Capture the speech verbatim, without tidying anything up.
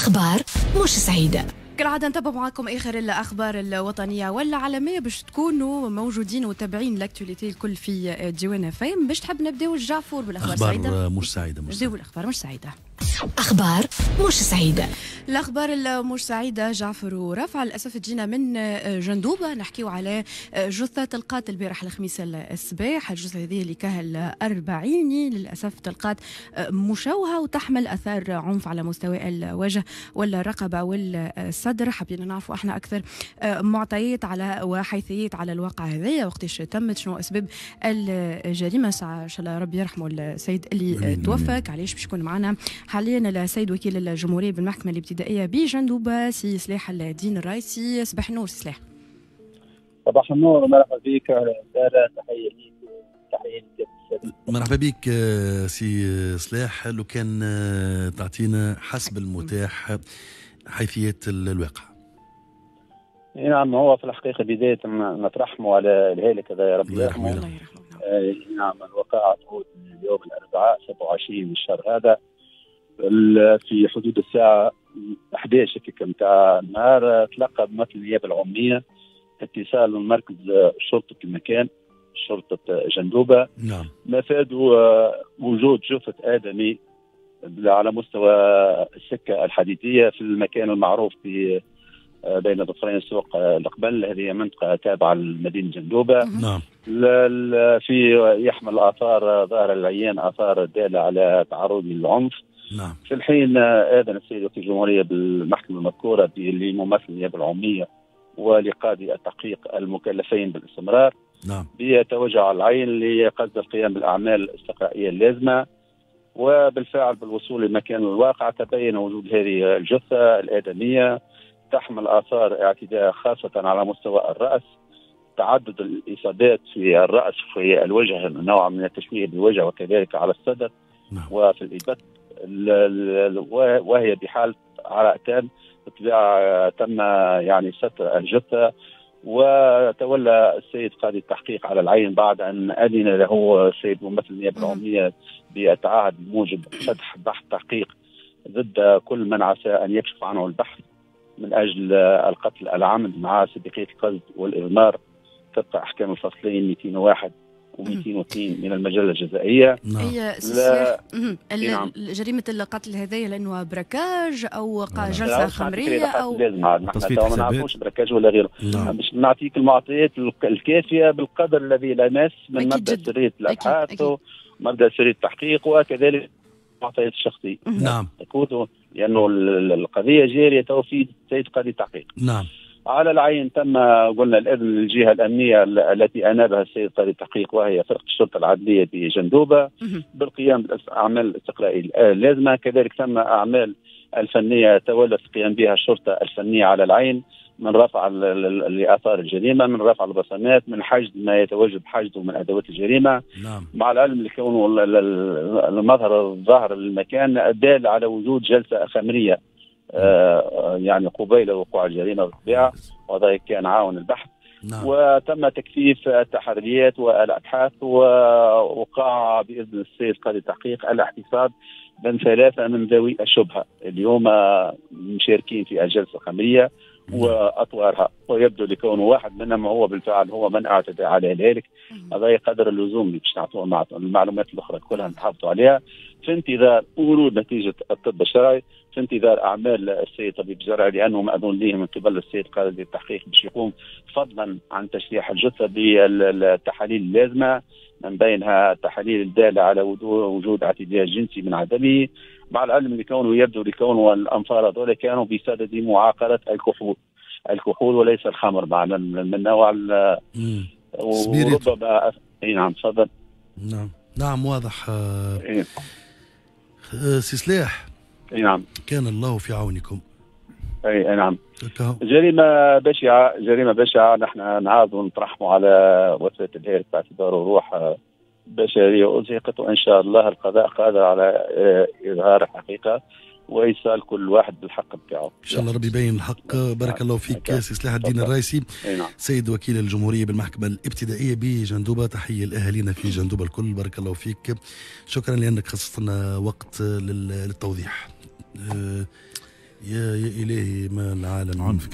أخبار مش سعيدة. كالعادة نتابع معكم آخر الأخبار الوطنية والعالمية باش تكونوا موجودين وتابعين l'actualité الكل في ديوان اف ام. باش تحب نبداو جعفور بالأخبار سعيدة؟ أخبار مش سعيدة. مش نبداو بالأخبار مش سعيدة. أخبار مش سعيدة. الأخبار المش سعيدة جعفر ورفع للأسف تجينا من جندوبة. نحكيو على جثة تلقات البارح الخميس الصباح. الجثة هذه اللي كهل أربعيني للأسف تلقات مشوهة وتحمل أثار عنف على مستوى الوجه والرقبة والصدر. حبينا نعرفوا احنا أكثر معطيات على وحيثيات على الواقع هذايا، وقتاش تمت، شنو أسباب الجريمة. إن شاء الله ربي يرحمه السيد اللي توفى. علاش باش يكون معنا حاليا السيد وكيل الجمهورية بالمحكمة الابتدائية بجندوبة سي سلاح الدين الرايسي. صباح النور سي سلاح. صباح النور ومرحبا بك سارة، تحية ليك تحية لك. مرحبا بك سي سلاح. لو كان تعطينا حسب المتاح حيثيات الواقع. نعم، هو في الحقيقة بداية نترحموا على الهالك هذا، يا رب يرحمه. الله يرحمه. نعم، الوقعة اليوم الأربعاء سبعة وعشرين من الشهر هذا في حدود الساعة أحد عشر نتاع النهار تلقى بمثل النيابة العمومية اتصال من مركز شرطة المكان شرطة جندوبة. نعم. مفادوا وجود جثة آدمي على مستوى السكة الحديدية في المكان المعروف في بين ضفرين سوق القبل. هذه منطقة تابعة لمدينة جندوبة. نعم. في يحمل آثار ظاهر العيان، آثار دالة على تعرض للعنف. نعم. في الحين آذن السيد وكيل الجمهورية بالمحكمة المذكورة لممثل النيابة العمومية ولقاضي التحقيق المكلفين بالاستمرار. نعم. بيتوجه على العين لقصد القيام بالأعمال الاستقرائية اللازمة، وبالفعل بالوصول لمكان الواقع تبين وجود هذه الجثة الآدمية تحمل آثار اعتداء خاصة على مستوى الرأس، تعدد الإصابات في الرأس في الوجه، نوع من التشويه بالوجه وكذلك على الصدر. نعم. وفي الإبط، وهي بحالة عراء تام. بالطبيعة تم يعني ستر الجثة، وتولى السيد قاضي التحقيق على العين بعد أن أذن له السيد ممثل النيابة العمومية بالتعهد بموجب فتح بحث تحقيق ضد كل من عسى أن يكشف عنه البحث من أجل القتل العمد مع سابقية القصد والإضمار طبق أحكام الفصلين مئتين وواحد ومئتين واثنين من المجلة الجزائية. نعم. هي جريمة القتل هذه لأنه braquage أو جلسة خمرية أو لازم نحن ما نعرفوش braquage ولا غيره. نعم. باش نعطيك المعطيات الكافية بالقدر الذي لا يمس من مبدأ سرية الأبحاث ومبدأ سرية التحقيق وكذلك المعطيات الشخصية. نعم. لأنه القضية جارية تو في سيد قاضي التحقيق. نعم. على العين تم قلنا الإذن للجهة الأمنية التي أنابها السيد قاضي التحقيق وهي فرقة الشرطة العدلية بجندوبة بالقيام بالأعمال الاستقرائية اللازمة. كذلك تم أعمال الفنية تولت القيام بها الشرطة الفنية على العين من رفع لآثار الجريمة، من رفع البصمات، من حشد ما يتوجب حشده من أدوات الجريمة. نعم. مع العلم لكونه المظهر الظاهر للمكان دال على وجود جلسة خمرية آه يعني قبيل وقوع الجريمة بالطبيعة، وهذا كان عاون البحث. نعم. وتم تكثيف التحريات والأبحاث، ووقع بإذن السيد قاضي التحقيق الاحتفاظ من ثلاثة من ذوي الشبهة اليوم مشاركين في الجلسة الخمرية وأطوارها، ويبدو لكونه واحد منهم هو بالفعل هو من اعتدى على ذلك. هذا قدر اللزوم باش نعطوه المعلومات الأخرى كلها نحافظوا عليها في انتظار ورود نتيجة الطب الشرعي، في انتظار أعمال السيد طبيب الزرعي لأنه مأذون له من قبل السيد قاضي التحقيق باش يقوم فضلا عن تشريح الجثة بالتحاليل اللازمة من بينها التحاليل الدالة على وجود اعتداء جنسي من عدمه، مع العلم لكونه يبدو لكونه الأنفار هذول كانوا بصدد معاقلة الكحول، الكحول وليس الخمر مع من نوع وربما. اي نعم تفضل. نعم نعم واضح. إيه؟ سي سلاح. اي نعم. كان الله في عونكم. اي نعم. جريمة بشعة، جريمة بشعة، نحن نعاود ونترحموا على وفاة الهالك باعتباره روح بشرية أزهقت، وإن شاء الله القضاء قادر على إظهار الحقيقة وإيصال كل واحد بالحق بتاعه. إن شاء الله ربي يبين الحق. بارك الله فيك سي سلاح الدين الرايسي، سيد وكيل الجمهورية بالمحكمة الابتدائية بجندوبة. تحية لأهالينا في جندوبة الكل، بارك الله فيك. شكرا لأنك خصصت لنا وقت للتوضيح. يا يا الهي، ما العالم عنف.